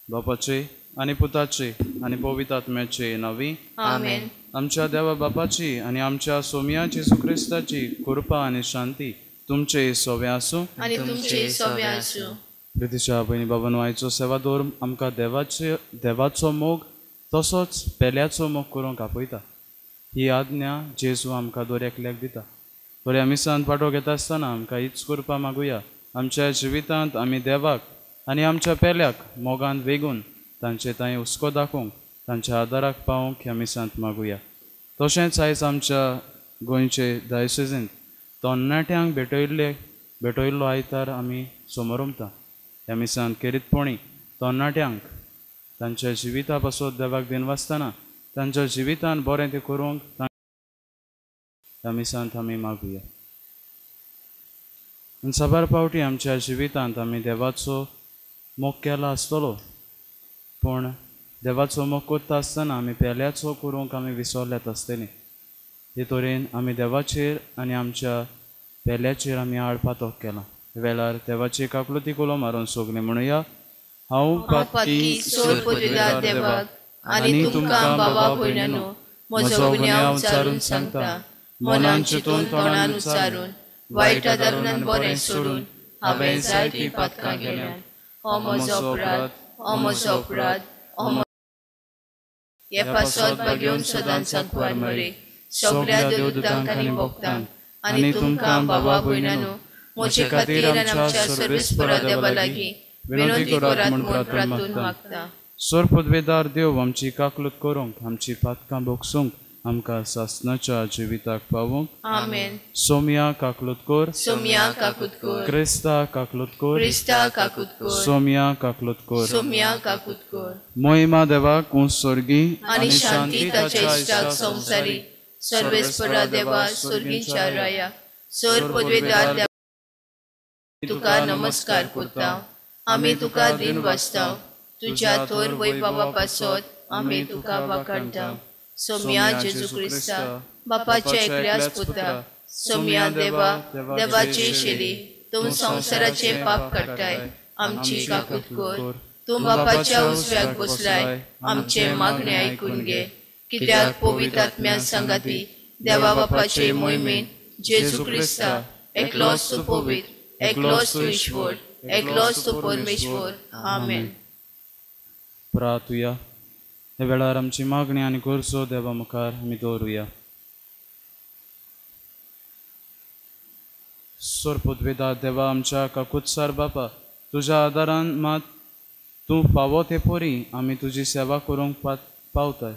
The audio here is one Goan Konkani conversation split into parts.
बापाचे आनी पुताचे आनी पवित्र आत्म्याचे नांवी आमेन। आमच्या देवा बापाची आनी आमच्या सोम्या जेजू क्रिस्ताची कृपा आनी शांती तुमचे सोवे आसूं आनी तुमचे सोवे आसूं। प्रितीच्या भयणी बाबांनो, आयचो सेवादोर आमकां देवाचो मोग तसोच पेल्याचो मोग करूंक आपयता। ही आज्ञा जेजू आमकां दर एकल्याक दिता। बऱ्या मिसांत पाटो घेता आसतना आमकां हीच कृपा मागुया, आमच्या जिवितांत आमी देवाक आनी आमच्या पेल्याक मोगान वेगून तांचे तांय हुस्को दाखोवंक, तांच्या आदाराक पावोवंक ह्या मिसांत मागुया। तशेंच आयज आमच्या गोंयचे डायसिजींत तरणाट्यांक भेटयल्लो आयतार आमी समोरमता। ह्या मिसांत खेरीतपणी तरणाट्यांक तांच्या जिविता पासत देवाक दिनवासतना तांच्या जिवितान बरें तें करूंक ह्या मिसांत आमी मागुया। आनी साबार फावटी आमच्या जिवितांत आमी देवाचो मोग केला आसतलो, पूण देवाचो मोग करता आसतना आमी पेल्याचो करूंक आमी विसरल्यात आसतली। हे तरेन आमी देवाचेर आनी आमच्या पेल्याचेर आमी आडपातोक केला। वेळार देवाची काकलुती कुलो मारून सगळीं म्हणुया, हांव पातकी सोरपदवीदार देवाक आनी तुमकां बाबा भयणांनो म्हजो गुन्यांव उच्चारून सांगता, मनान चिंतून तोंडान उच्चारून वायट आदारून बरें सोडून हांवें जायतीं पातकां केल्यांत। हो म्हजो अपराध, हो म्हजो अपराध, हो हे पासत भाग्योवन सदांच सांकवार मरे सगळ्या देवदूतांक आनी भक्तांक आनी तुमकां बाबा भयणांनो म्हजे खातीर आनी आमच्या सर्वेस्परा देवा लागीं विनंती करात म्हूण प्रार्थून मागता। सोरपदवेदार देव आमची काकलूत करूंक, आमची पातकां भोगसूंक, आमकां सासणाच्या जिविताक पावूंक। आमेन। सोम्या काकलूत कर, सोम्या काकूत कर, क्रिस्ता काकलूत कर, क्रिस्ता काकूत कर, सोम्या काकलूत कर, सोम्या काकूत कर। मोहिमा देवाक उंच स्वर्गी आनी शांती ताच्या इश्टाक संवसारी। सर्वेस्परा देवा स्वर्गींच्या राया सोरपदवेदार देवा तुका नमस्कार करता, आमी तुका दिन वाचता, तुज्या थोर वैभवा पासत आमी तुका वाखाणटा। सोम्या जेजू क्रिस्ता बापाच्या एकल्याच पुता, सोम्या देवा देवाची शेली, तूं संवसाराचे पाप काडटाय, आमची काकूत कर। तूं बापाच्या उजव्याक बसलाय, आमचे मागणे आयकून घे। कित्याक पवित्र आत्म्या सांगाती देवा बापाचे मोहिमेन जेजू क्रिस्ता एकलोच तूं पवित्र, एकलोच तूं ईश्वर, एकलोच तूं परमेश्वर। आमेन। प्रार्थुया। ह्या वेळार आमची मागणी आनी गरजो देवा मुखार आमी दवरुया। सोरपदवेदा देवा आमच्या काकुत्सार बापा, तुज्या आदारान मात तूं फावो ते परी आमी तुजी सेवा करूंक पावताय।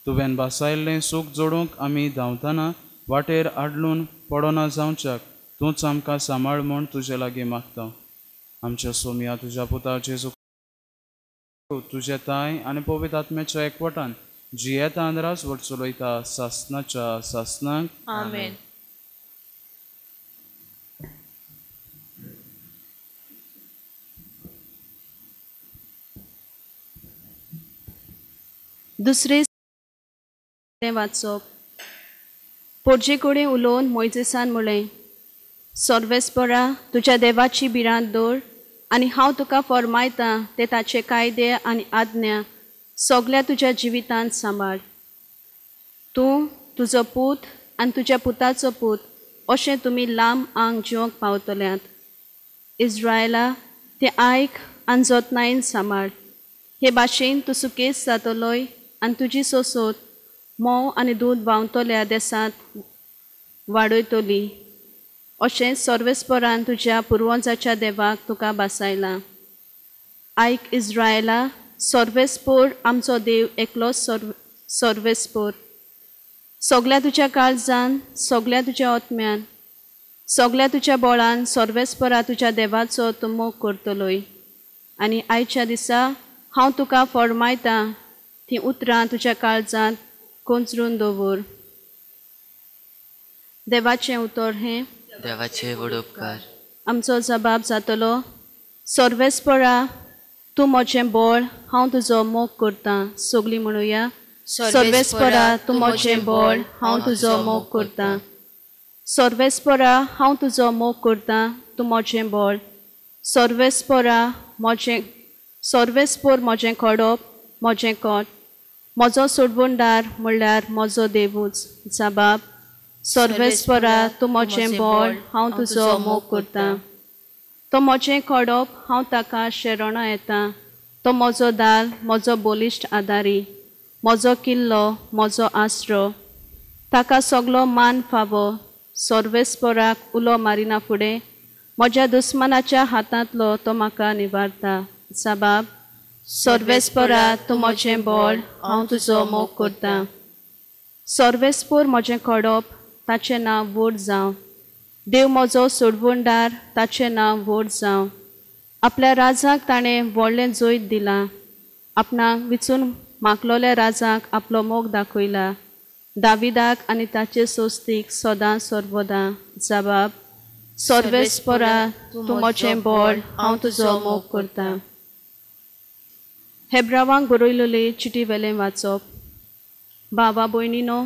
तुवें भासायल्लें सूख जोडूंक आमी धांवतना वाटेर आडलून पडना जावच्याक तूंच आमकां सांबाळ म्हूण तुजे लागीं मागता। आमच्या सोम्या तुज्या पुता जेजू तुजे ताय आनी पवित्र आत्म्याच्या एकवटान जियेता आनी राजवट चलयता सासणाच्या सासणाक। आमेन। दुसरे वाचप। पोरजे कडेन उलोवन मोयजेसान म्हळें, सर्वेस्परा तुज्या देवाची भिरांत दवर आनी हांव तुका फर्मायता ते ताचे कायदे आनी आज्ञा सगल्या तुज्या जिवितांत सांबाळ। तूं, तुजो पूत आनी तुज्या पुताचो पूत अशें तुमी लांब आंग जिवंक पावतल्यात। इज्रायला तें आयक आनी जतनायेन सांबाळ। हे भाशेन तूं सुकेस जातलोय आनी तुजी सोसोत म्होंव आनी दूद व्हांवतल्या देसांत वाडयतली। अशें सर्वेस्परान तुज्या पुर्वजाच्या देवाक तुका भासायलां. आयक इस्रायला, सर्वेस्पोर आमचो देव एकलो सर्वेस्पोर. सगल्या तुज्या काळजान, सगल्या तुज्या आत्म्यान, सगल्या तुज्या बळान सर्वेस्परा तुज्या देवाचो तूं मोग करतलोय. आनी आयच्या दिसा हांव तुका फरमायतां तीं उतरां तुज्या काळजांत कोंचरून दवर. देवाचें उतर हें. देवाचे व्हड उपकार. आमचो जबाब जातलो, सर्वेस्परा तूं म्हजें बळ, हांव तुजो मोग करतां. सगळीं म्हणुया, सर्वेस्परा तूं म्हजें बळ, हांव तुजो मोग करतां. सर्वेस्परा हांव तुजो मोग करतां, तूं म्हजें बळ. सर्वेस्परा म्हजें, सर्वेस्पोर म्हजें खडप, म्हजें कोट, म्हजो सोडवणदार म्हणल्यार म्हजो देवूच. जबाब, सर्वेस्परा तूं म्हजें बळ, हांव तुजो मोग करतां. तो म्हजें खडप, हांव ताका शरणां येता. तो म्हजो दाल, म्हजो बलिश्ट आदारी, म्हजो किल्लो, म्हजो आसरो. ताका सगलो मान फावो. सर्वेस्पराक उलो मारिना फुडें म्हज्या दुस्मानाच्या हातांतलो तो म्हाका निवारता. जबाब, सर्वेस्परा तूं म्हजें बळ, हांव तुजो मोग करतां. सर्वेस्पोर म्हजें खडप, ताचें नांव व्हड जावं. देव म्हजो सोडवणदार, ताचें नांव व्हड जावं. आपल्या राजाक ताणें व्हडलें जैत दिलां. आपणाक विचून मागलोल्या राजाक आपलो मोग दाखयला. दाविदाक आनी ताचे सोस्तीक सदां सर्वदां. जबाब, सर्वेस्परा तूं म्हजें बळ, हांव तुजो मोग करतां. हेब्रावांक बरयलेले चिटी वेलें वाचप. भावा भयणीनो,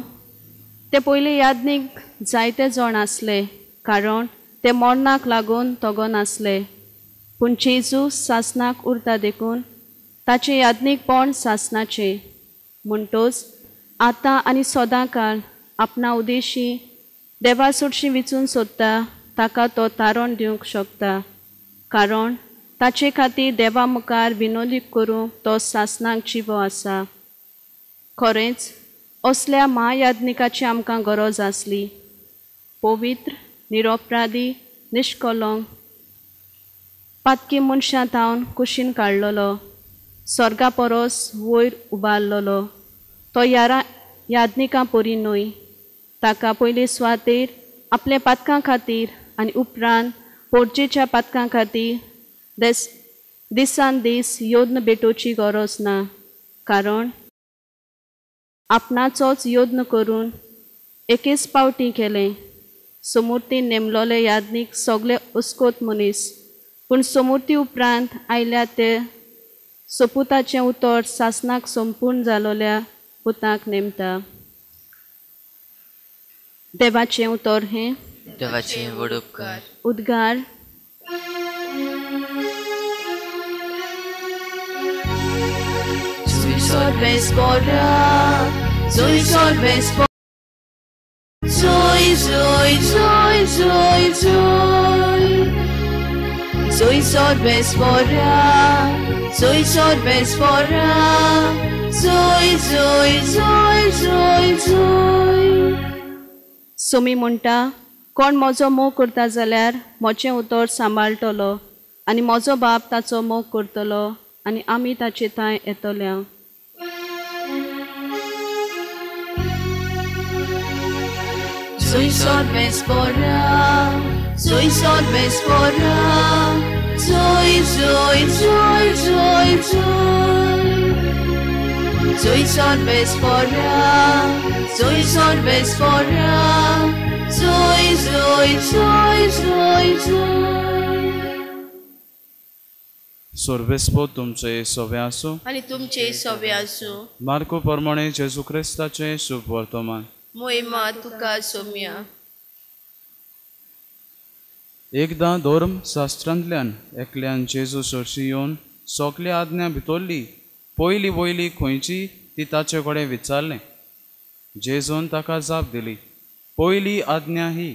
ते पयले यादनीक जायते जाण आसले, कारण ते मरणाक लागून तगो नासले. पूण जेजू सासनाक उरता देखून ताचें यादनीकपण सासनाचें. म्हणटच आतां आनी सदां काळ आपणा उदेशी देवा सोडशी विचून सोदता ताका तो तारण दिवंक शकता, कारण ताचे खातीर देवा मुखार विनोदी करूंक तो सासनाक जिवो आसा. खरेंच असल्या म्हायाज्ञिकाची आमकां गरज आसली. पवित्र, निरपराधी, निश्कलंक, पातकी मनशां थावन कुशीन काडलेलो, स्वर्गा परस वयर उबारलेलो तो यारा याज्ञिकां परी न्हय. ताका पयले सुवातेर आपल्या पातकां खातीर आनी उपरांत पोरजेच्या पातकां खातीर दिसान दीस यत्न भेटोवची गरज ना, कारण आपणाचोच यत्न करून एकेच पावटी केलें. समूर्तीन नेमलोले याज्ञीक सगळे अस्कोत मनीस, पूण समूर्ती उपरांत आयल्या ते सोपुताचें उतर सासनाक संपूर्ण जालोल्या पुताक नेमता. देवाचें उतर हें. देवाचें व्हड उपकार. उद्गार. Zoe, Zoe, Zoe, Zoe, Zoe. Zoe Sorvespora, Zoe Sorvespora, Zoe, Zoe, Zoe, Zoe, Zoe. Somi म्हणटा, कोण म्हजो मोग करता जाल्यार म्हजें उतर सांबाळटलो आनी म्हजो बाप ताचो मोग करतलो आनी आमी ताचे थंय येतल्या. Zoe Sorvespora, Zoe Sorvespora, Zoe, Zoe, Zoe, Zoe, Zoe. Zoe Sorvespora, Zoe Sorvespora, Zoe, Zoe, Zoe, Zoe, Zoe. सोर्वेस्पो तुमचे सोवे आसूं आनी तुमचे सोवे आसूं. मार्को प्रमाणे जेजू क्रिस्ताचें शुभ वर्तमान. मोहिमा तुका सोम्या. एकदां धर्म शास्त्रांतल्यान एकल्यान जेजू सरशी येवन सगल्या आज्ञा भितरली पयली वयली खंयची ती ताचे कडेन विचारलें. जेजून ताका जाप दिली, पयली आज्ञा ही,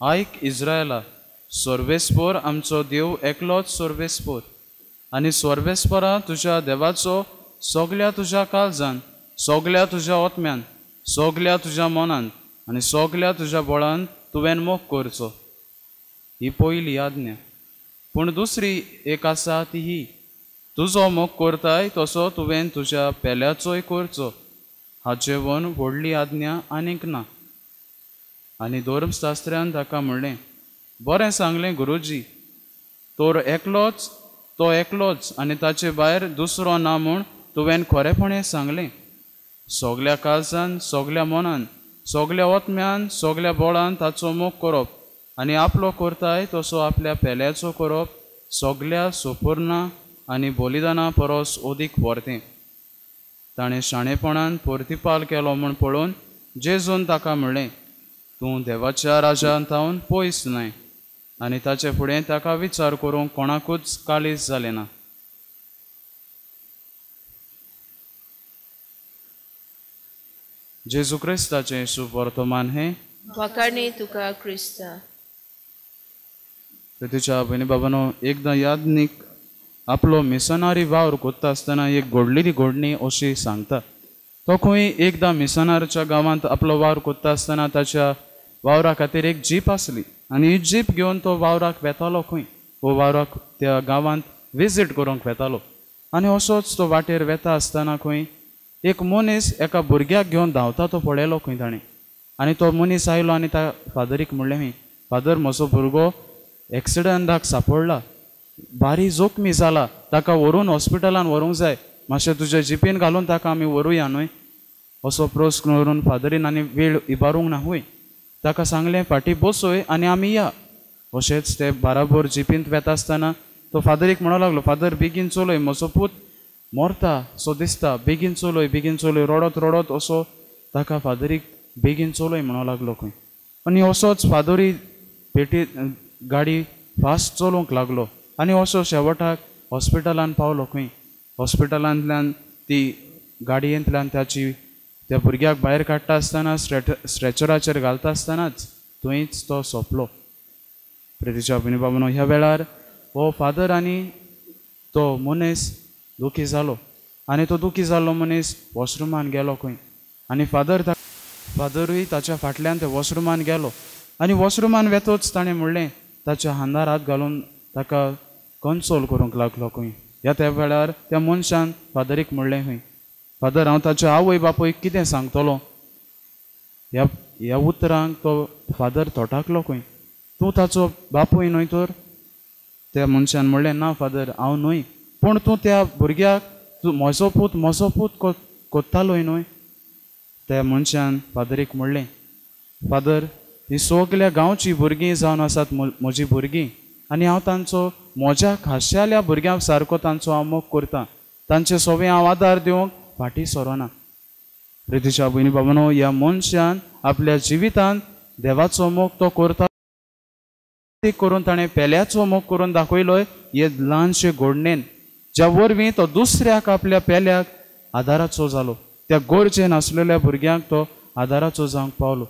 आयक इस्रायला, सर्वेस्पोर आमचो देव एकलोच सर्वेस्पोर, आनी सर्वेस्पोरा तुज्या देवाचो सगल्या तुज्या काळजान, सगल्या तुज्या आत्म्यान, सगल्या तुज्या मनान आनी सगल्या तुज्या बळान तुवें मोग करचो. ही पयली आज्ञा. पूण दुसरी एक आसा ती ही, तुजो मोग करताय तसो तुवें तुज्या पेल्याचोय करचो. हाचे वन व्हडली आज्ञा आनीक ना. आनी धर्मशास्त्र्यान ताका म्हणलें, बरें सांगलें गुरुजी, तर एकलोच तो एकलोच आनी ताचे भायर दुसरो ना म्हूण तुवें खरेपणें सांगलें. सगल्या काळजान, सगल्या मनान, सगल्या ओतम्यान, सगल्या बळान ताचो मोग करप आनी आपलो करताय तसो आपल्या पेल्याचो करप सगल्या सोपुर्णा आनी बलिदाना परस अदीक व्हरतें. ताणें शाणेपणान प्रतिपाल केलो म्हूण पळोवन जेजून ताका म्हणलें, तूं देवाच्या राजान थावन पयस न्हय. आनी ताचे फुडें ताका विचार करूंक कोणाकूच काळीज जालें ना. जेजू क्रिस्ताचें शुभ वर्तमान हें. वाखाणी तुका क्रिस्ता. तिच्या भयणी बाबानो, एकदां यादनीक आपलो मिसनारी वावर कोत्ता आसतना एक घडलेली घडणी अशी सांगता. तो खंय एकदां मिसनारच्या गांवांत आपलो वावर कोत्ता आसतना ताच्या वावरा खातीर एक जीप आसली आनी ही जीप घेवन तो वावराक वेतालो खंय, वो वावराक त्या गांवांत विजीट करूंक वेतालो. आनी असोच तो वाटेर वेता आसतना खंय एक मनीस एका भुरग्याक घेवन धांवता तो पळयलो खंय ताणें. आनी तो मनीस आयलो आनी त्या फादरीक म्हणलें खंय, फादर म्हजो भुरगो एक्सिडंटाक सापडला, बारी जोखमी जाला, ताका व्हरून हॉस्पिटलान व्हरूंक जाय, मातशें तुज्या जिपीन घालून ताका आमी व्हरूया न्हय, असो प्रस्न करून फादरीन आनी वेळ इबारूंक ना हूय, ताका सांगलें फाटीं बसय आनी आमी या. अशेंच ते बाराबर जिपींत वेता आसतना तो फादरीक म्हणूंक लागलो, फादर बेगीन चलय, म्हजो पूत मरता सो दिसता, बेगीन चलय बेगीन चलय. रडत रडत असो ताका फादरीक बेगीन चलय म्हणूंक लागलो खंय. आनी असोच फादरी पेटी गाडी फास्ट चलोवंक लागलो आनी असो शेवटाक हॉस्पिटलान पावलो खंय. हॉस्पिटलांतल्यान ती गाडयेंतल्यान ताची त्या भुरग्याक भायर काडटा आसतना स्ट्रेचराचेर घालता आसतनाच थंयच तो सोंपलो. प्रितीच्या भयणी बाबानो, ह्या वेळार हो फादर आनी तो मनीस दुखी जालो आनी तो दुखी जाल्लो मनीस वॉशरुमान गेलो खंय आनी फादरूय ताच्या फाटल्यान त्या वॉशरुमान गेलो आनी वॉशरुमान वेतोच ताणें म्हणलें, ताच्या हांदार हात घालून ताका कन्सोल करूंक लागलो खंय. ह्या त्या वेळार त्या मनशान फादरीक म्हणलें खंय, फादर हांव ताच्या आवय बापूयक कितें सांगतलो. ह्या उतरांक तो फादर थोटाकलो खंय, तूं ताचो बापूय न्हय तर. त्या मनशान म्हणलें, ना फादर हांव न्हय, पूण तूं त्या भुरग्याक तूं म्हजो पूत कोत्तालोय न्हय. त्या मनशान फादरीक म्हणलें, फादर ही सगल्या गांवची भुरगीं जावन आसात म्हजी भुरगीं आनी हांव तांचो म्हज्या खाशेल्या भुरग्यां सारको तांचो हांव मोग करतां, तांचे सवे हांव आदार दिवंक फाटीं सरोना. प्रितीच्या भयणी बाबानो, ह्या मनशान आपल्या जिवितांत देवाचो मोग तो करता करून ताणें पेल्याचो मोग करून दाखयलो हे ल्हानशे घडणेन, ज्या वरवीं तो दुसऱ्याक आपल्या पेल्याक आदाराचो जालो, त्या गरजेन आसलेल्या भुरग्यांक तो आदाराचो जावंक पावलो.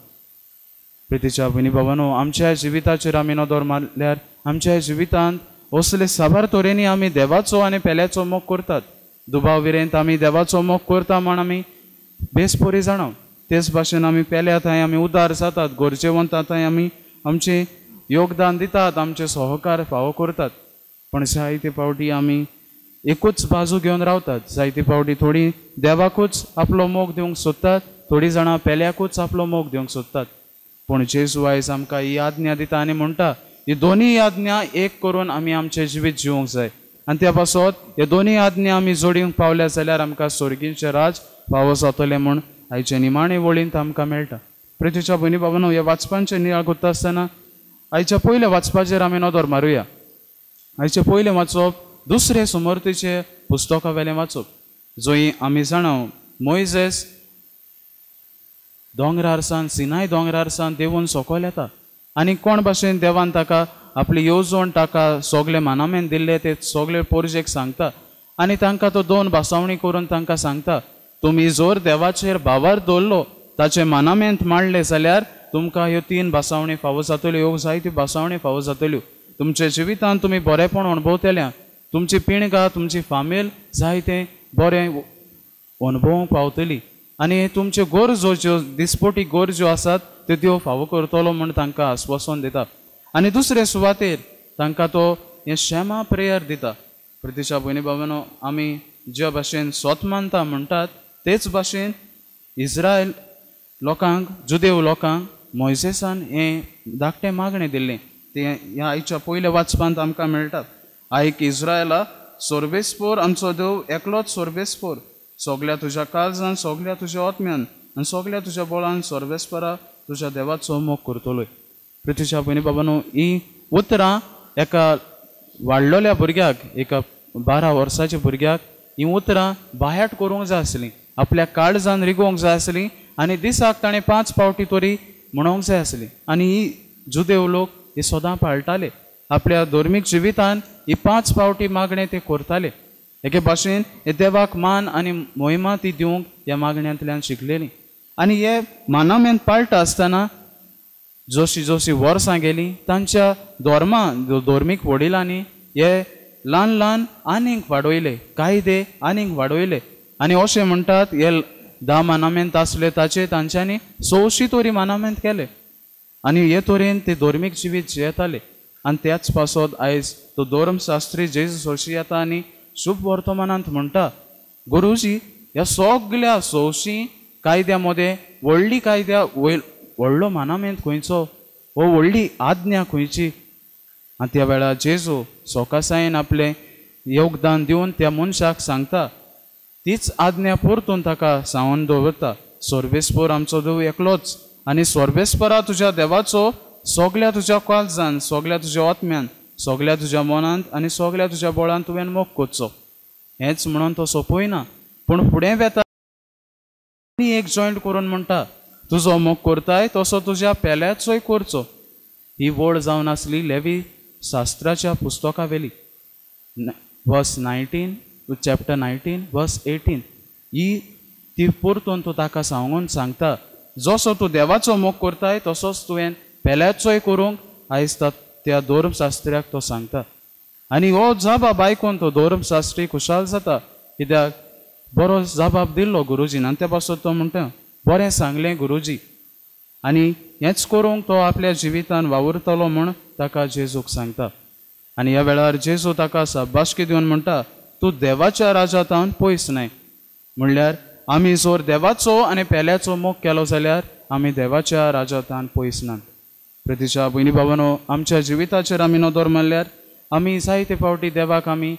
प्रितीच्या भयणी बाबानो, आमच्या जिविताचेर आमी नदर मारल्यार आमच्या जिवितांत असले साबार तरेनी आमी देवाचो आनी पेल्याचो मोग करतात. दुबाव विरेंत आमी देवाचो मोग करता म्हण आमी बेस बरी जाणां, तेच भाशेन आमी पेल्या थंय आमी उदार जातात, गरजेवंता थंय आमी आमचें योगदान दितात, आमचे सहकार फावो करतात. पण जायते फावटी आमी एकूच बाजू घेवन रावतात, जायते फावटी थोडी देवाकूच आपलो मोग दिवंक सोदतात, थोडीं जाणां पेल्याकूच आपलो मोग दिवंक सोदतात. पूण जेजू आयज आमकां ही आज्ञा दिता आनी म्हणटा, ही दोनूय आज्ञा एक करून आमी आमचें जिवीत जिवंक जाय आनी त्या पासत हे दोनूय आज्ञा आमी जोडूंक पावल्या जाल्यार आमकां स्वर्गींचें राज फावो जातलें म्हूण आयचे निमाणे वळींत आमकां मेळटा. प्रितीच्या भयणी बाबानो, ह्या वाचपांचें नियाळ करता आसतना आयच्या पयल्या वाचपाचेर आमी नदर मारुया. आयचें पयलें वाचप दुसरे सुमर्तीचे पुस्तका वेलें वाचप, जंय आमी जाणां मोयजेस दोंगरार सान सिनाय दोंगरार सान देवून सकयल येता आनी कोण भाशेन देवान ताका आपली येवजण ताका सगळे मानामेन दिल्ले ते सगळे पोरजेक सांगता आनी तांकां तो दोन भासावणी करून तांकां सांगता, तुमी जर देवाचेर भावार दवरलो ताचे मानामेंत मांडले जाल्यार तुमकां ह्यो तीन भासावणी फावो जातल्यो, ह्यो जायत्यो भासावणी फावो जातल्यो, तुमच्या जिवितांत तुमी बरेंपण अणभवतल्या, तुमची पिणगां तुमची फामील जायतें बरें अणभवूंक पावतली आनी तुमच्यो गरजो ज्यो दिसपटी गरजो आसात त्यो त्यो फावो करतलो म्हूण तांकां आस्वासन दिता. आनी दुसरे सुवातेर तांकां तो हें क्षमा प्रेयर दिता. प्रतिशा भयणी बाबांनो, आमी ज्या भाशेन सोत मानता म्हणटात तेच भाशेन इस्रायल लोकांक, जुदेव लोकांक मोयजेसान हें धाकटें मागणें दिल्लें, तें ह्या आयच्या पयल्या वाचपांत आमकां मेळटा. आयक इस्रायला, सोर्बेस्पोर आमचो देव एकलोच सोर्बेस्पोर, सगल्या तुज्या काळजान, सगल्या तुज्या आत्म्यान आनी सगल्या तुज्या बळान सोर्बेस्परा तुज्या देवाचो मोग करतलोय. पृथ्वीच्या भयणी बाबांनो, ही उतरां एका वाडलेल्या भुरग्याक, एका 12 वर्साच्या भुरग्याक ही उतरां बाह्याट करूंक जाय आसलीं, आपल्या काळजान रिगोवंक जाय आसलीं आनी दिसाक ताणें 5 फावटी तरी म्हणोंक जाय आसली. आनी ही जुदेव लोक ही सदां पाळटाले, आपल्या धर्मीक जिवितान ही 5 फावटी मागणें ते करताले. एके भाशेन हे देवाक मान आनी मोहिमा ती दिवंक ह्या मागण्यांतल्यान शिकलेली. आनी हे मानामेन पाळटा आसतना जशी जशी वर्सां गेलीं तांच्या धर्मा धर्मीक वडिलांनी हे ल्हान ल्हान आनीक वाडयले, कायदे आनीक वाडयले. आनी अशें म्हणटात हे 10 मानामेंत आसले ताचे तांच्यांनी 100 तरी मानामेंत केले आनी हे तरेन ते धर्मीक जिवीत जियेताले. आनी त्याच पासत आयज तो धर्मशास्त्री जेजू सोशी येता आनी शुभ वर्तमानांत म्हणटा, गुरुजी ह्या सगल्या 100 कायद्या मदें व्हडली कायद्या वयल व्हडलो मानामेंत खंयचो, हो व्हडली आज्ञा खंयची? आनी त्या वेळार जेजू सोकासायेन आपलें योगदान दिवन त्या मनशाक सांगता, तीच आज्ञा परतून ताका सांगून दवरता, सोर्बेस्पोर आमचो देव एकलोच आनी सोर्बेस्परा तुज्या देवाचो सगल्या तुज्या काळजान, सगल्या तुज्या आत्म्यान, सगल्या तुज्या मनांत आनी सगल्या तुज्या बळान तुवें मोग करचो. हेंच म्हणून तो सोंपयना, पूण फुडें वेता आनी एक जॉयंट करून म्हणटा, तुजो मोग करताय तसो तुज्या पेल्याचोय करचो. ही वळ जावन आसली लेवी शास्त्राच्या पुस्तका वेली, वर्स 19, चॅप्टर 19 वर्स 18. ही ती परतून तूं ताका सांगून सांगता, जसो तूं देवाचो मोग करताय तसोच तुवें पेल्याचोय करूंक आयज त्या धर्मशास्त्र्याक तो सांगता. आनी हो जबाब आयकून तो धर्मशास्त्री खुशाल जाता, कित्याक बरो जबाब दिल्लो गुरुजीन. आनी त्या पासत तो म्हणटा, बरें सांगलें गुरुजी. आनी हेंच करूंक तो आपल्या जिवितान वावुरतलो म्हूण ताका जेजूक सांगता. आनी ह्या वेळार जेजू ताका शाबासकी दिवन म्हणटा, तूं देवाच्या राजांत पयस न्हय. म्हणल्यार आमी जर देवाचो आनी पेल्याचो मोग केलो जाल्यार आमी देवाच्या राजांत पयस नात. प्रतिशा भयणी बाबांनो, आमच्या जिविताचेर आमी नदर मारल्यार आमी जायते फावटी देवाक आमी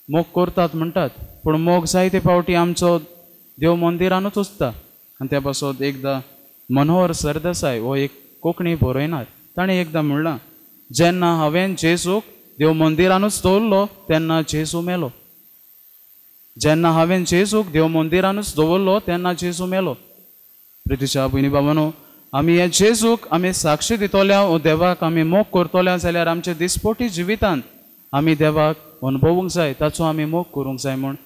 मोग करतात म्हणटात, पूण मोग जायते फावटी आमचो देव मंदिरानूच उरता. आनी त्या पासत एकदां मनोहर सरदेसाय हो एक कोंकणी बरयणार, ताणें एकदां म्हणलां, जेन्ना हांवें जेजूक देव मंदिरानूच दवरलो तेन्ना जेजू मेलो. जेन्ना हांवें जेजूक देव मंदिरानूच दवरलो तेन्ना जेजू मेलो. प्रितीच्या भयणी बाबांनो, आमी हे जेजूक आमी साक्षी दितल्या वो देवाक आमी मोग करतल्या जाल्यार आमच्या दिसपोटी जिवितान आमी देवाक अनुभवूंक जाय, ताचो आमी मोग करूंक जाय म्हूण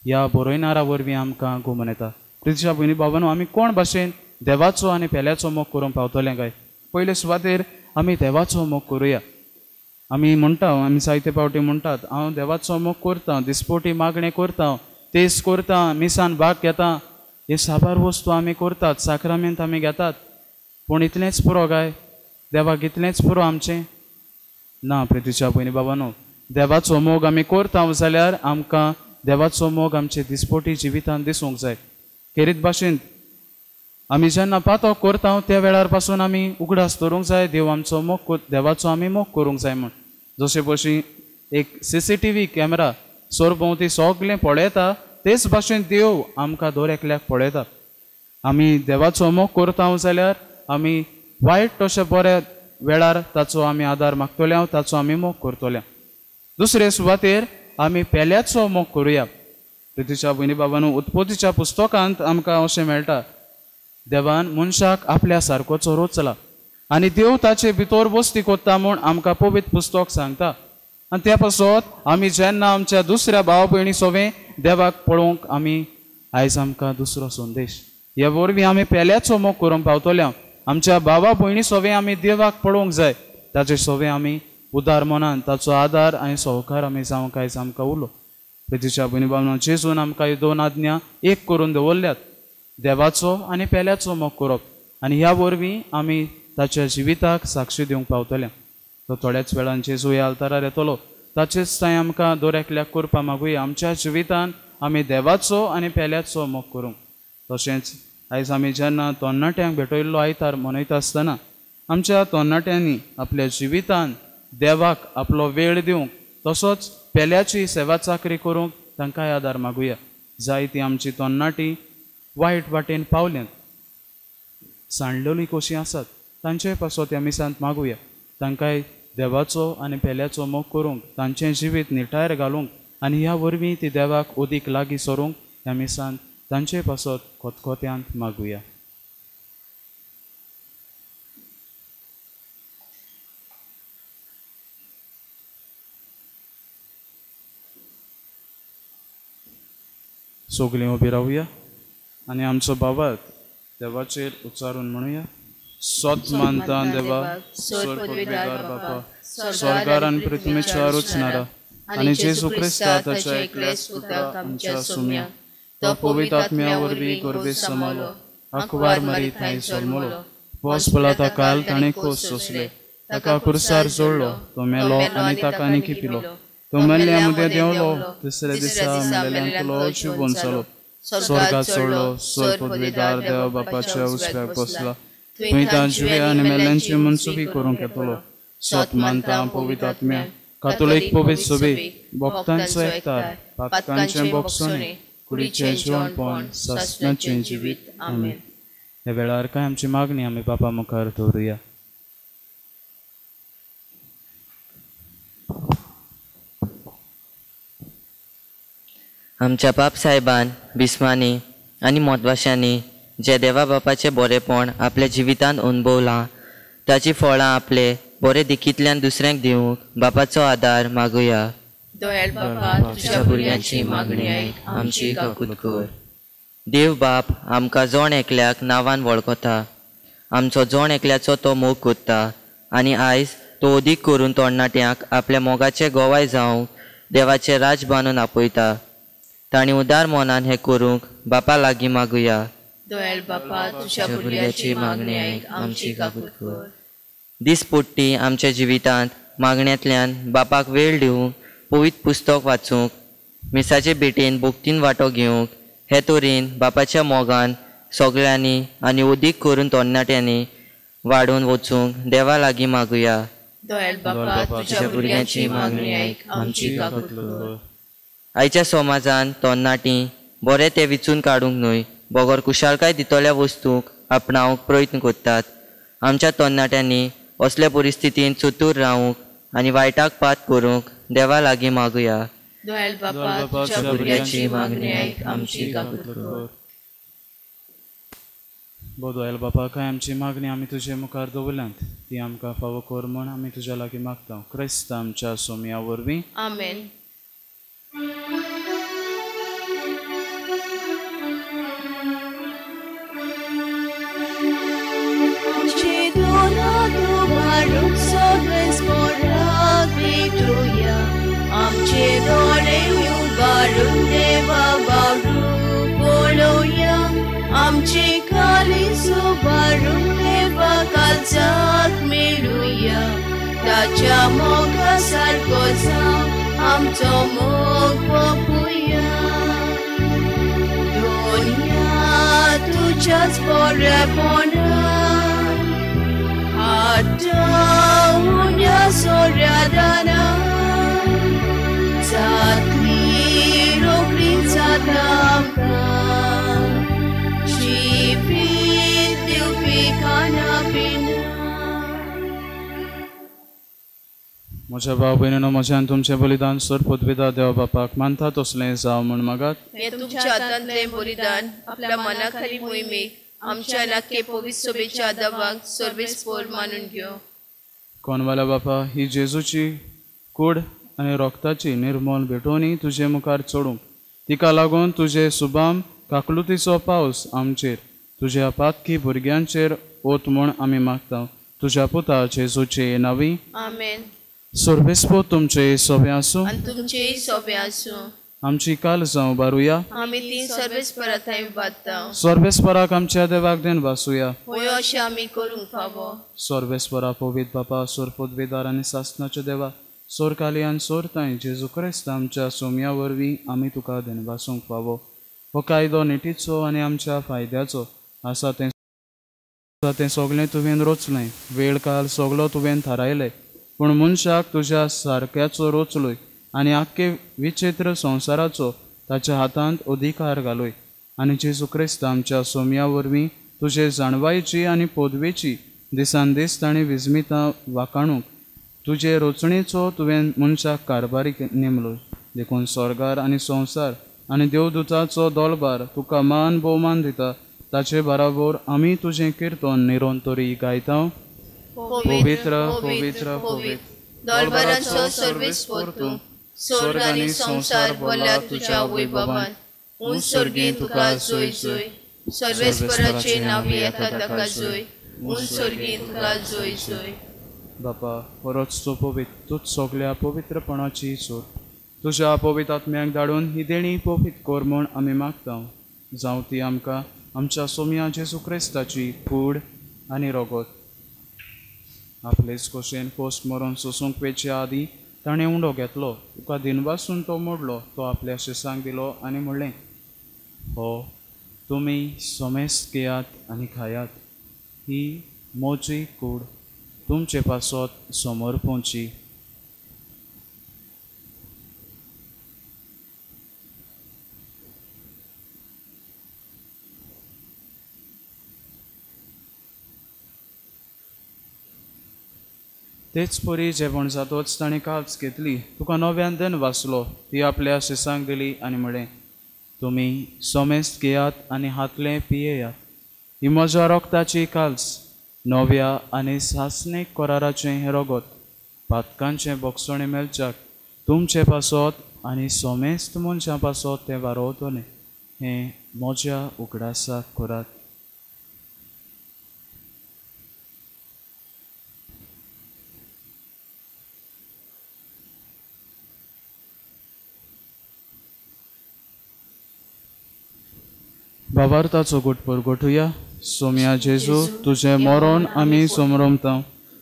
ह्या बरयणारा वरवीं आमकां गुमन येता. प्रितीच्या भयणी बाबांनो, आमी कोण भाशेन देवाचो आनी पेल्याचो मोग करूंक पावतले काय? पयले सुवातेर आमी देवाचो मोग करुया. आमी म्हणटा, आमी जायते फावटी म्हणटात, हांव देवाचो मोग करता, दिसपोटी मागणें करता, तेज करता, मिसान भाग घेता, हे साबार वस्तू आमी करतात, साक्रामेंत आमी घेतात, पूण इतलेंच पुरो काय? देवाक इतलेंच पुरो आमचें? ना प्रितीच्या भयणी बाबांनो, देवाचो मोग आमी करता जाल्यार आमकां देवाचो मोग आमचे दिसपोटी जिवितान दिसूंक जाय. खेरीत भाशेन आमी जेन्ना पातक करता त्या वेळार पासून आमी उगडास दवरूंक जाय देव आमचो मोग, देवाचो आमी मोग करूंक जाय म्हूण. जशे भशेन एक CCTV camera सरभोंवती सगळें पळयता, तेच भाशेन देव आमकां दर एकल्याक पळयता. आमी देवाचो मोग करता जाल्यार आमी वायट तशें बऱ्या वेळार ताचो आमी आदार मागतले, ताचो आमी मोग करतले. दुसरे सुवातेर आमी पेल्याचो मोग करुया. प्रितीच्या भयणी बाबांनो, उत्पत्तीच्या पुस्तकांत आमकां अशें मेळटा, देवान मनशाक आपल्या सारकोचो रचला आनी देव ताचे भितर वस्ती करता म्हूण आमकां पवित्र पुस्तक सांगता. आनी त्या पासत आमी जेन्ना आमच्या दुसऱ्या भाव भयणी सोवें देवाक पळोवंक आमी आयज आमकां दुसरो संदेश हे वरवीं आमी पेल्याचो मोग करूंक पावतले. आमच्या भावा भयणी सोवें आमी देवाक पळोवंक जाय, ताचे सोवें आमी उदार मनान ताचो आदार आनी सहकार आमी जावंक आयज आमकां उलो. प्रितीच्या भयणी बाबांनो, जेजून आमकां ह्यो दोन आज्ञा एक करून दवरल्यात, देवाचो आनी पेल्याचो मोग करप, आनी ह्या वरवीं आमी ताच्या जिविताक साक्षी दिवंक पावतले. तो थोड्याच वेळान जेजू ह्या आल्तारार येतलो. ताचेच थंय आमकां दर एकल्याक करपा मागुया आमच्या जिवितान आमी देवाचो आनी पेल्याचो मोग करूंक. तशेंच आयज आमी जेन्ना तरणाट्यांक भेटयल्लो आयतार मनयता आसतना आमच्या तरणाट्यांनी आपल्या जिवितान देवाक आपलो वेळ दिवंक तसोच पेल्याची सेवा चाकरी करूंक तांकांय आदार मागुया. जायती आमची तरणाटी वायट वाटेन पावल्यांत, सांडलेली कशीं आसात, तांचे पासत ह्या मिसांत मागुया. तांकांय देवाचो आनी पेल्याचो मोग करूंक, तांचें जिवीत निटायर घालूंक आनी ह्या वरवीं ती देवाक अदीक लागीं सरूंक ह्या मिसांत तांचे पासत खतखत्यांत मागुया. सगळीं उबी रावया आनी आमचो बाबात देवाचेर उच्चारून म्हणुया. सोत मानता देवा, स्वर्गपदवीदार बापा, स्वर्गार आनी पृथ्वीच्या रचणारा आनी जेजू क्रिस्ता ताच्या एकल्याच पुताक आमच्या सुम्या, तो पवित्र आत्म्या वरवीं गर्भेत समालो, आंकवार मरी थंय जल्मलो, पोस पळा ताका ताणें खोस सोंसले, ताका खुर्सार जोडलो, तो मेलो आनी ताका निखिपिलो, तो मेल्ल्या मदें देंवलो, तिसऱ्या दिसा मेल्ल्यांतलो जिवोन जालो, स्वर्गात चडलो, स्वर्ग पदवीदार देवा बापाच्या उजव्याक बसला, थंय तां जिव्या आनी मेल्ल्यांची मनसुबी करूंक येतलो. सोत मानता पवित्र आत्म्या, कातोलीक पवित्र सोबी, भक्तांचो एकतार, पातकांचें बोगसणें, कुडीचें जिवनपण, सासणाचें जिवीत. आमेन. ह्या वेळार कांय आमची मागणी आमी बापा मुखार दवरुया. आमच्या बाप साहेबान, बिस्मांनी आनी मोतवाशांनी जे देवा बापाचें बरेपण आपल्या जिवितांत अणभवलां ताची फळां आपले बरे देखींतल्यान दुसऱ्यांक दिवंक बापाचो आदार मागुया. दयाळ बापा, तुज्या भुरग्यांची मागणी आयक, आमची काकूत कर. देव बाप आमकां जण एकल्याक नांवान वळखता, आमचो जण एकल्याचो तो मोग करता आनी आयज तो अदीक करून तरणाट्यांक आपल्या मोगाचे गोवाय जावंक देवाचें राज बांदून आपयता. तांणी उदार मनान हें करूंक बापा लागीं मागुया. दयाळ बापा, तुज्या भुरग्याची मागणी आयक, आमची काकूत कर. दिसपट्टी आमच्या जिवितांत मागण्यांतल्यान बापाक वेळ दिवंक, पवित्र पुस्तक वाचूंक, मिसाचे भेटेन भक्तीन वांटो घेवंक, हे तरेन बापाच्या मोगान सगळ्यांनी आनी अदीक करून तरणाट्यांनी वाडून वचूंक देवा लागीं मागुया. दयाळ बापा, तुज्या भुरग्यांची मागणी आयक, आमची काकूत कर. आयच्या समाजान तरणाटीं बरें तें विचून काडूंक न्हय बगर कुशालकाय दितल्या वस्तूंक आपणावंक प्रयत्न करतात. आमच्या तरणाट्यांनी असल्या परिस्थितींत चतूर रावूंक आनी वायटाक पात करूंक देवा लागीं मागुया. दयाळ बापा, तुज्या भुरग्यांची मागणी आयक, आमची काकूत कर. दयाळ बापा, कांय आमची मागणी आमी तुजे मुखार दवरल्यांत ती आमकां फावो कर म्हूण आमी तुज्या लागीं मागता. क्रिस्त आमच्या सोम्या वरवीं. आमेन. आमचे दोळे उबारून देवा बारू पळोवया, आमचे काळीज उबारून देवा काळजाक मेळुया, ताच्या मोगा सारको जावं आमचो मोग पोपुया. दोनया तुज्याच बरेपणान हाडटा उण्या सोऱ्या दानान, जातली रोखडी जाता आमकां जिवीत दिवपी खाणा पिणा. म्हज्या भाव भयणीनो, म्हज्यान तुमचें बलिदान सर पदवीदार देव बापाक मानता तसलें जावं म्हूण मागात. हें तुमच्या हातांतलें बलिदान आपल्या मनाखाली मोहिमेक आमच्या नाके पवित्र सोबेच्या दबाक सर्वेस्पोर मानून घेवं. कोणवाल्या बापा, ही जेजूची कूड आनी रोगताची निर्मोल भेटोवणी तुजे मुखार चडूंक, तिका लागून तुजे सुबाम काकलुतीचो पावस आमचेर, तुज्या पातकी भुरग्यांचेर ओत म्हूण आमी मागता. तुज्या पुता जेजूचे नांवी. आमेन. सर्वेस्पोर तुमचे सोबे आसूं आनी तुमचेय सोबे आसूं. आमची काळजां उबारुया. आमी ती सर्वेस्परा थंय बादता. सर्वेस्पराक आमच्या देवाक देन वासूया. होय अशें आमी करूंक फावो. सर्वेस्परा पवित्र बापा, सोर पदवेदार आनी सासणाच्या देवा, सोर काली आनी सोर तांय जेजू क्रिस्त आमच्या सोम्या वरवीं आमी तुका देनवासूंक फावो. हो कायदो निटीचो आनी आमच्या फायद्याचो आसा. तें सगळें तुवें रचलें, वेळ काल सगलो तुवें थारायलें, पूण मनशाक तुज्या सारक्याचो रचलोय आनी आख्खे विचित्र संवसाराचो ताच्या हातांत अधिकार घालोय. आनी जेजू क्रिस्त आमच्या सोम्या वरवीं तुजे जाणवायेची आनी पदवेची दिसान दीस ताणें विजमितां वाकाणूंक तुजे रचणेचो तुवें मनशाक कारभारी नेमलो. देखून स्वर्गार आनी संवसार आनी देवदूताचो दोलबार तुका मान भोवमान दिता. ताचे बराबर आमी तुजें किर्तन निरंतरी गायता. पवित्र पवित्र पवित्र दोलबारांचो सर्वेस्पर तूं, स्वर्ग आनी संवसार भरल्या तुज्या वैभवान. उंच स्वर्गीं तुका जोय जोय, सर्वेस्पराचे नांव येता ताका जोय, उंच स्वर्गीं तुका जोय जोय. बापा, खरोच तूं पवित्र, तूंच सगल्या पवित्रपणाची सोड. तुज्या पवित्र आत्म्याक धाडून ही देणी पवित्र कर म्हूण आमी मागता. जावं ती आमकां आमच्या सोम्या जेजू क्रिस्ताची कूड आनी रगत. आपलेच खोशेन पोस्ट मरून सोसूंक वेच्या आदीं ताणें उंडो घेतलो, तुका दिनवासून तो मोडलो, तो आपल्या शिसांक दिलो आनी म्हणलें, हो तुमी सोमेस्त घेयात आनी खायात, ही म्हजी कूड तुमचे पासत समर्पणची. तेच परी जेवण जातोच ताणें काल्स घेतली, तुका नव्यान देन वाचलो, ती आपल्या शिसांक दिली आनी म्हणलें, तुमी सोमेस्त घेयात आनी हातलें पियेयात, ही म्हज्या रक्ताची काल्स, नव्या आनी सासणीक कराराचें हें रगत, पातकांचें बोगसणें मेळच्याक तुमचे पासत आनी सोमेस्त मनशां पासत तें वारोवतलें. हें म्हज्या उगडासाक करात. भावार्थाचो गुटपूर गोठुया. सोम्या जेजू, तुजें मरण आमी समरमता,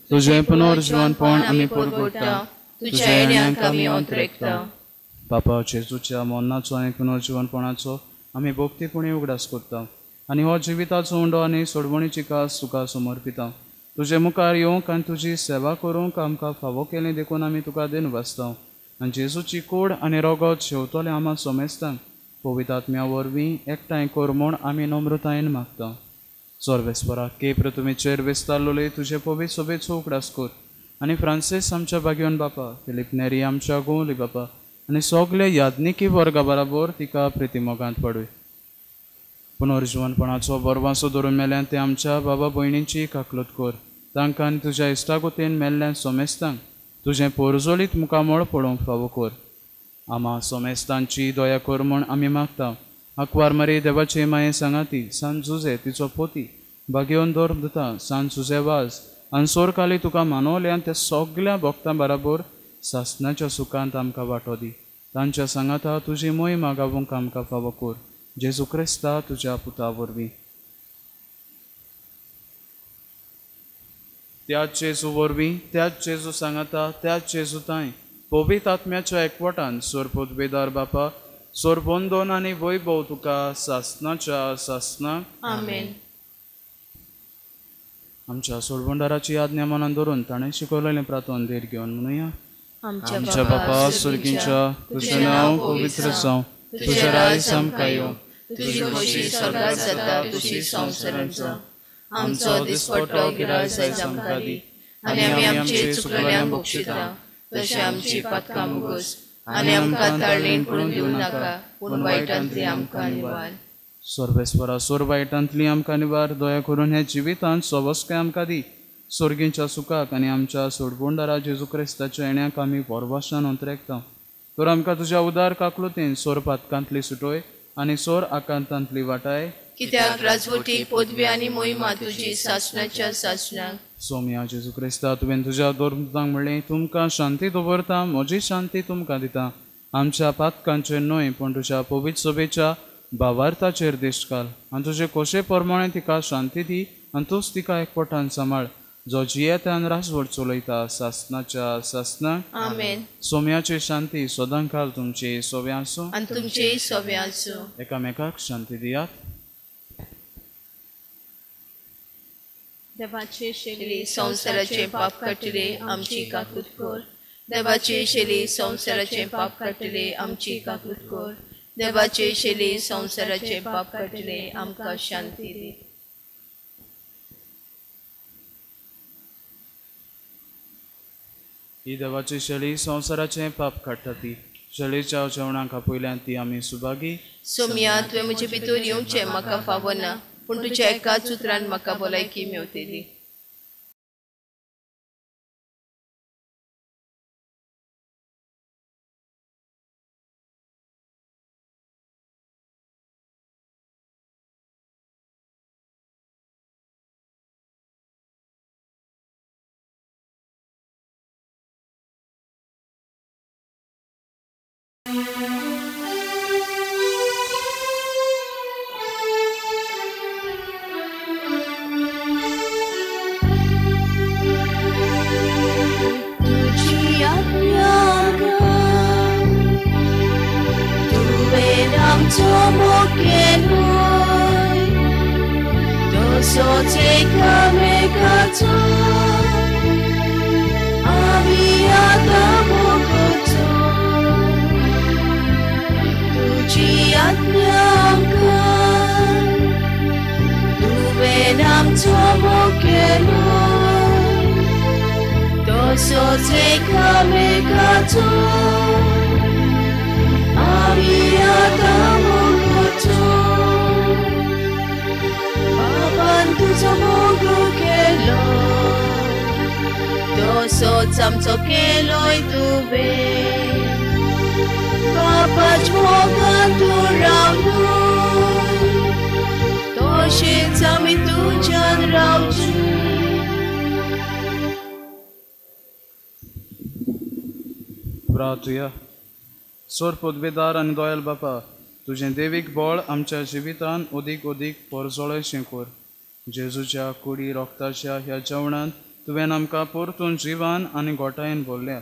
तुजें पुनर्जीवनपण आमी परगुटा, तुज्या येण्याक आमी अंतरेकता. बापा, जेजूच्या मरणाचो आनी पुनर्जीवनपणाचो आमी भक्तीपणी उगडास करता आनी हो जिविताचो उंडो आनी सोडवणीची कास तुका समर्पिता. तुजे मुखार येवंक आनी तुजी सेवा करूंक आमकां फावो केलें देखून आमी तुका देन वाचता. आनी जेजूची कूड आनी रगत शेवतले आमा सोमेस्तांक पवित्र आत्म्या वरवीं एकठांय कर म्हूण आमी नम्रतायेन मागता. सर्वेस्परा केप्र तुमी चेर विस्तारलोले तुजे पवित्र सोबेचो उगडास कर आनी फ्रांसीस आमच्या भाग्योन बापा, फिलीप नेरी आमच्या गोवली बापा आनी सगळे याज्ञिकी वर्गा बराबर तिका प्रितीमोगांत पडूय. पुनर्जीवनपणाचो बरवासो धरून मेल्यान ते आमच्या बाबा भयणींची काकलूत कर. तांकां आनी तुज्या इश्टागोतीन मेल्ल्या सोमेस्तांक तुजें पोरजोलीत मुखामळ पळोवंक फावो कर. आमा सोमेस्तांची दया कर म्हूण आमी मागता. आंकवार मारी देवाचे माये सांगाती सान जुजे तिचो पोती भाग्योन दर दिता सान जुजे वाज आनी सोरकाली तुका मानवल्यान त्या सगल्या भक्तां बराबर सासणाच्या सुखांत आमकां वांटो दी. तांच्या सांगाता तुजी मोहिमा गावूंक आमकां फावो कर. जेजू क्रिस्ता तुज्या पुता वरवीं. त्याच जेजू वरवीं, त्याच जेजू सांगाता, त्याच जेजू तांय पवित्र आत्म्याच्या एकवटान सोरपोतबेदार बापा, सोरबंदोन आनी वैभव तुका सासणाच्या सासणाक. आमेन. आमच्या सोडबंडाराची आज्ञा मनान धरून ताणें शिकवलेलें प्रार्थन धीर घेवन म्हणुया. आमच्या बापा स्वर्गींच्या, तुजें नांव पवित्र जावं, तुजें राज आमकां येवं, तुजी खोशी स्वर्गात जाता तशी संवसारांत जावं. आमचो दिसपट्टो गिरास आयज आमकां दी आनी आमी आमचे चुकलेल्यांक बक्षिता तशें आमची पातकां मुगोस आनी आमकां ताळणेन पडून दिवं नाका, पूण वायटांतली आमकां निवार. सर्वेस्परा सोर वायटांतली आमकां निवार. दया करून हे जिवितांत सवस्काय आमकां दी. स्वर्गींच्या सुखाक आनी आमच्या सोडबोंडारा जेजू क्रिस्ताच्या येण्याक आमी वरवाशान अंतरेकता. तर आमकां तुज्या उदार काकलुतेन सोर पातकांतली सुटोय आनी सोर आकांतांतली वाटाय. कित्याक राजवटी पदवी आनी मोहिमा तुजी सासणाच्या सासणाक. सोम्या जेजू क्रिस्ता, तुवें तुज्या दोरतांक म्हणलें, तुमकां शांती दवरता, म्हजी शांती तुमकां दिता. आमच्या पातकांचेर न्हय पूण तुज्या पवित्र सभेच्या भावार्थाचेर दिश्ट घाल आनी तुजे खोशे प्रमाणे तिका शांती दी आनी तूंच तिका एकपटान सांबाळ जो जियेता आनी राजवट चलयता सासनाच्या सासनाक. आमेन. सोम्याची शांती सदांकाल तुमची सोबे आसूं आनी तुमचेय सोबे आसूं. एकामेकाक शांती दियात. देवाचे शेली संवसाराचे पाप काडटले आमची काकूत कर. देवाचे शेली संवसाराचे पाप काडटले आमची काकूत कर. देवाचे शेली संवसाराचे पाप काडटले आमकां शांती दी. ही देवाची शेली संवसाराचें पाप काडटा ती शेलीच्या जेवणाक आपयल्यान ती आमी सुभागी. सोमया तुवें म्हजे भितर येवचें म्हाका फावना पूण तुज्या एकाच उतरान म्हाका भलायकी मेवतली. सोर पदवेदार आनी दोयल बापा तुजें देवीक बळ आमच्या जिवितान अदीक अदीक परजळयशें कर. जेजूच्या कुडी रोगताच्या ह्या जेवणांत तुवें आमकां परतून जिवान आनी गोठायेन भरल्या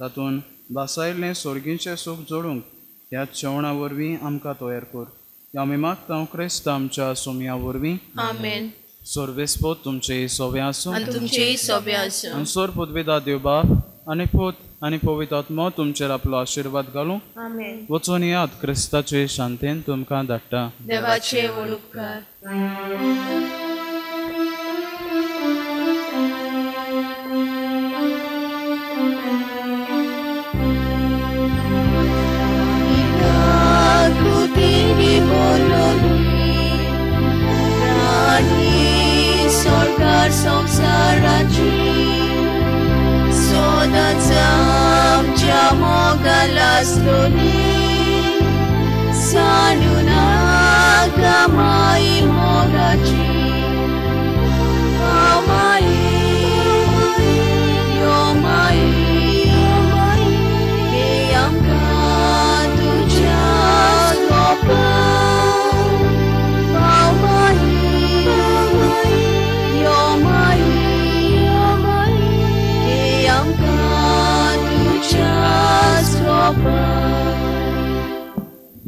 तातूंत भासायल्लें सोर्गींचें सूख जोडूंक ह्या जेवणा वरवीं आमकां तयार कर. आमी मागता क्रिस्त आमच्या सोमया वरवीं. आमेन. सोर्वेस्पोत तुमचेय सोबे आसूं आनी तुमचेय सोबे आसूं. आनी सोर पदवेदार देव बाप आनी पूत आनी पवित्र आत्मो तुमचेर आपलो आशिर्वाद घालूं. वचून याद क्रिस्ताचे शांतेन तुमकां धाडटा. देवाचे व्हड उपकार. संसाराची सदांच आमच्या मोगान आसलोली सांडू नाका माई मोगाची.